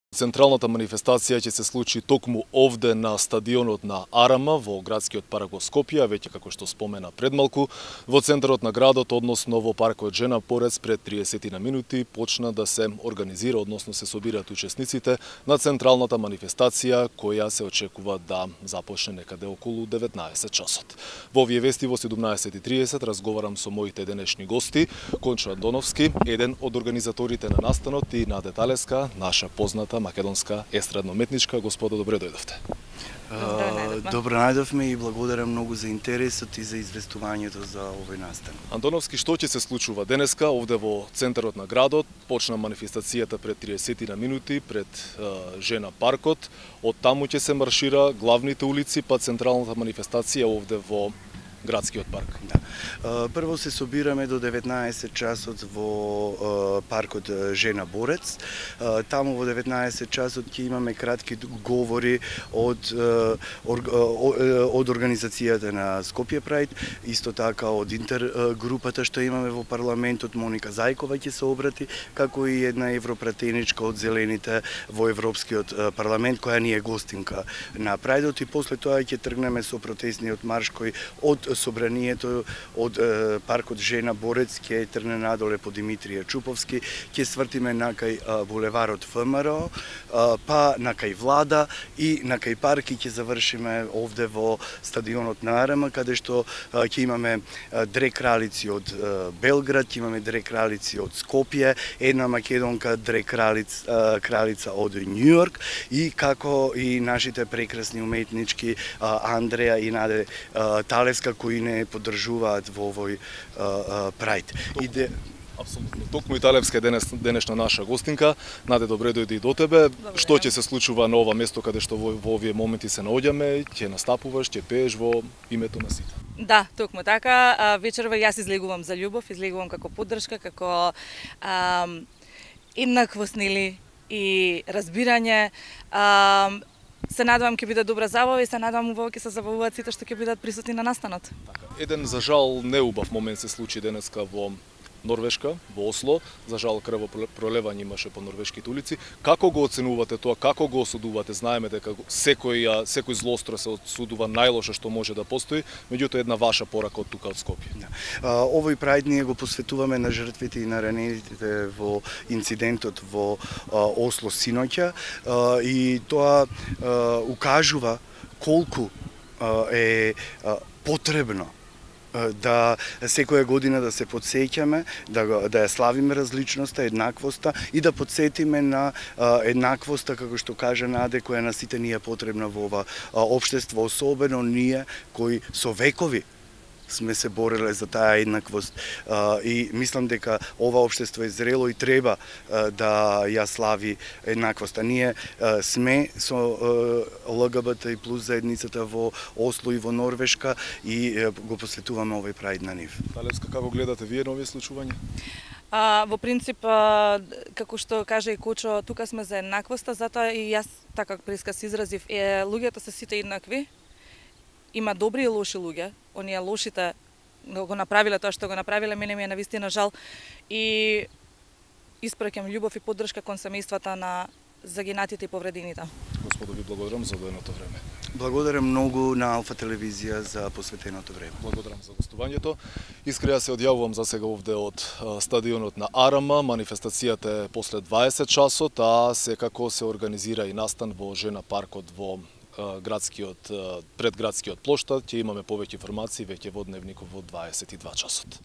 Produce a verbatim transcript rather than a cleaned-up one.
Централната манифестација ќе се случи токму овде на стадионот на Арама во градскиот парк во Скопје, веќе како што спомена предмалку, во центарот на градот, односно во паркот Жена Борец, пред триесет на минути почна да се организира, односно се собираат учесниците на централната манифестација која се очекува да започне некаде околу деветнаесет часот. Во овие вести во седумнаесет и триесет разговарам со моите денешни гости, Кончо Андоновски, еден од организаторите на настанот, и Наде Талевска, наша позната македонска естрадно-уметничка. Господа, добре дојдовте. Добро најдовме и благодарам многу за интересот и за известувањето за овој настан. Андоновски, што ќе се случува денеска овде во центарот на градот? Почна манифестацијата пред триесет на минути пред е, Жена паркот. Од таму ќе се маршира главните улици, па централната манифестација овде во градскиот парк. Да. Прво се собираме до деветнаесет часот во паркот Жена Борец. Таму во деветнаесет часот ќе имаме кратки говори од од организацијата на Скопје Прајд, исто така од интергрупата што имаме во парламентот. Моника Зајкова ќе се обрати, како и една европратеничка од Зелените во Европскиот парламент, која ни е гостинка на Прајдот, и после тоа ќе тргнеме со протестниот марш кој од собранието од е, паркот Жена Борец ќе тргне надоле по Димитрија Чуповски, ќе свртиме на кај е, булеварот ФМРО, е, па на кај Влада и на кај парк, и ќе завршиме овде во стадионот на Арама, каде што е, ќе имаме е, две кралици од е, Белград, ќе имаме две кралици од Скопје, една македонка, две кралиц, е, кралица од Њујорк, и како и нашите прекрасни уметнички е, Андреја и Наде е, Талевска, кои не поддржуваат во овој прајд. Иде... Апсолутно. Токму и Талевска е денес, денешна наша гостинка. Наде, добре дојди и до тебе. Добре. Што ќе се случува на ова место каде што во, во овие моменти се наоѓаме? Ќе настапуваш, ќе пееш во името на сите? Да, токму така. Вечерва јас излегувам за љубов, излегувам како поддршка, како ам, еднаквост, нели, и разбирање. Ам, Се надевам ќе биде добра забава и се надевам убаво ќе се забавуваат сите што ќе бидат присутни на настанот. Така. Еден, за жал, неубав момент се случи денеска во Норвешка, во Осло. За жал, крвопролевање имаше по норвешките улици. Како го оценувате тоа? Како го осудувате? Знаеме дека секој, секој злостро се осудува најлоше што може да постои, меѓутоа една ваша порака од тука од Скопје. Да. Овој прајд ние го посветуваме на жртвите и на ранените во инцидентот во Осло синоќа, и тоа укажува колку е потребно да секоја година да се подсеќаме, да, да ја славиме различноста, еднаквоста, и да подсетиме на еднаквоста, како што кажа Наде, која на сите ни е потребна во ова општество, особено ние кои со векови сме се бореле за таа еднаквост, и мислам дека ова општество е зрело и треба да ја слави еднаквоста. Ние сме со ЛГБТ и плюс заедницата во Осло и во Норвешка и го посветуваме овој прајд на нив. Талевска, како гледате вие на овие случувања? А, во принцип, а, како што кажа и Кучо, тука сме за еднаквоста, затоа и јас така преска се изразив, е, луѓето се сите еднакви. Има добри и лоши луѓе. Оние лошите го направиле тоа што го направиле, мене ми е навистина жал, и испраќам љубов и поддршка кон семејствата на загинатите и повредените. Господо, ви благодарам за одвоеното време. Благодарам многу на Алфа телевизија за посветеното време. Благодарам за гостувањето. Искрено се одјавувам за сега овде од стадионот на Арама. Манифестацијата е после дваесет часот, а секако се организира и настан во Жена паркот во градскиот, пред градскиот плоштад. Ќе имаме повеќе информации веќе во дневникот во дваесет и два часот.